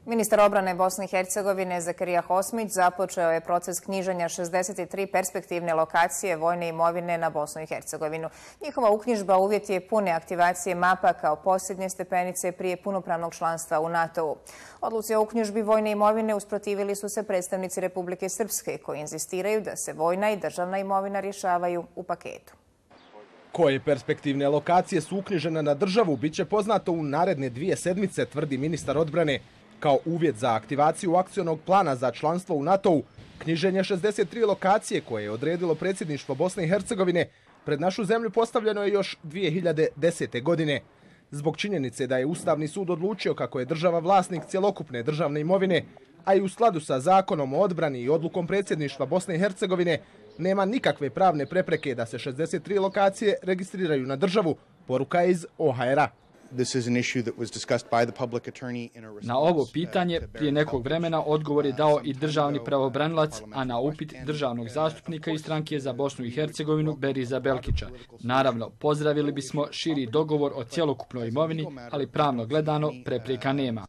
Ministar odbrane Bosne i Hercegovine Zakarija Hosmić započeo je proces knjiženja 63 perspektivne lokacije vojne imovine na Bosnu i Hercegovinu. Njihova uknjižba uvjet je pune aktivacije mapa kao posljednje stepenice prije punopravnog članstva u NATO-u. Odluci o uknjižbi vojne imovine usprotivili su se predstavnici Republike Srpske koji inzistiraju da se vojna i državna imovina rješavaju u paketu. Koje perspektivne lokacije su uknjižene na državu biće poznato u naredne 2 sedmice, tvrdi ministar odbrane. Kao uvjet za aktivaciju akcionog plana za članstvo u NATO-u, knjiženje 63 lokacije koje je odredilo predsjedništvo Bosne i Hercegovine pred našu zemlju postavljeno je još 2010. godine. Zbog činjenice da je Ustavni sud odlučio kako je država vlasnik cjelokupne državne imovine, a i u skladu sa zakonom o odbrani i odlukom predsjedništva Bosne i Hercegovine, nema nikakve pravne prepreke da se 63 lokacije registriraju na državu, poruka je iz OHR-a. Na ovo pitanje prije nekog vremena odgovor je dao i državni pravobranilac, a na upit državnog zastupnika iz stranke za Bosnu i Hercegovinu Beriza Belkića. Naravno, pozdravili bismo širi dogovor o cjelokupnoj imovini, ali pravno gledano prepreka nema.